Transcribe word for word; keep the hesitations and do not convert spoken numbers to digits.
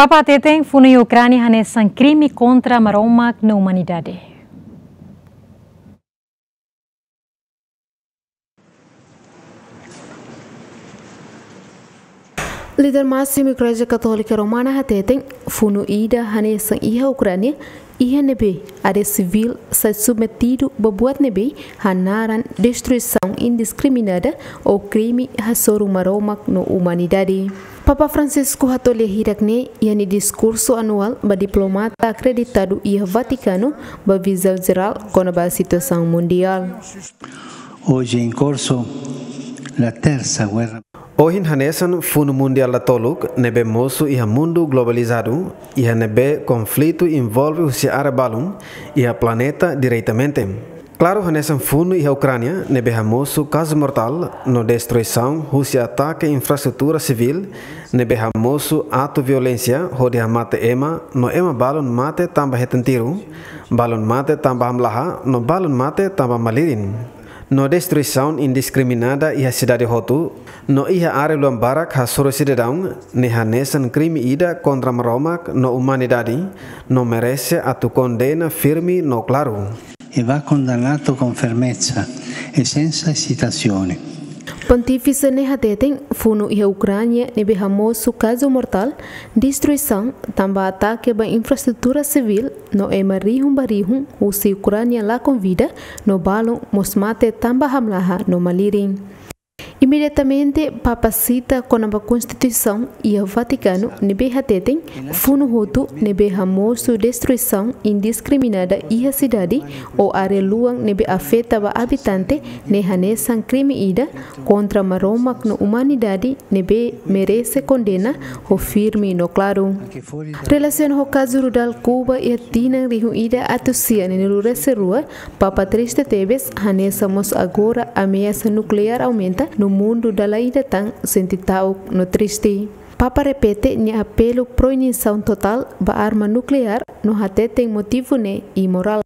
Papa hateten funu iha Ukránia hanesan krime kontra Maromak no umanidade. Líder másimu Igreja Katólika Romana hateten funu ida hanesan iha Ukránia, iha ne'ebé área sivíl sai submetidu ba buat ne'ebé hanaran destruisaun indiskriminada ou krime hasoru Maromak no umanidade. Papa Francisco hato'o lia hirak-ne'e iha nia diskursu anuál ba diplomata akreditadu iha Vatikanu ba vizaun jerál kona-ba situasaun mundiál. Hoje é em corso la terza guerra. Ohin hanesan funu mundiál datoluk ne'ebé mosu iha mundu globalizadu, iha ne'ebé konflitu envolve husi área balun iha planeta diretamente. Klaru hanesan funu iha Ukránia ne'ebé hamosu kazu mortál no destruisaun husi atake infraestrutura sivíl ne'ebé hamosu atu violénsia hodi hamate ema no ema balun mate tanba hetan tiru, balun mate tanba hamlaha no balun mate tanba malirin. No destruisaun indiskriminada iha sidade hotu, no iha área luan barak hasoru sidadaun ne'e hanesan krime ida kontra Maromak no umanidade, no merese atu kondena firme no klaru. E va condannato con fermezza e senza esitazione. Pontífise ne'e hateten funu iha Ukránia ne'ebé hamosu kazu mortál, destruisaun tanba atake ba infraestrutura sivíl no ema rihun ba rihun husi Ukránia la konvida no balun mós mate tanba hamlaha no malirin. Imediatamente, Papa sita kona-ba Konstituisaun iha Vatikanu ne'ebé hateten funu hotu ne'ebé hamosu destruisaun indiskriminada iha sidade ou área luan ne'ebé afeta ba abitante ne'e hanesan krime ida kontra Maromak no umanidade ne'ebé merese kondena ho firme no klaru. Relasiona ho kazu rudal Kuba iha tinan rihun ida atus sia neenulu resin rua, Papa triste tebes, hanesan mós agora ameasa nukleár aumenta no mundu dala ida tan sente ta'uk no triste. Papa repete nia apelu proibisaun totál ba arma nukleár no hateten motivu ne'e imorál.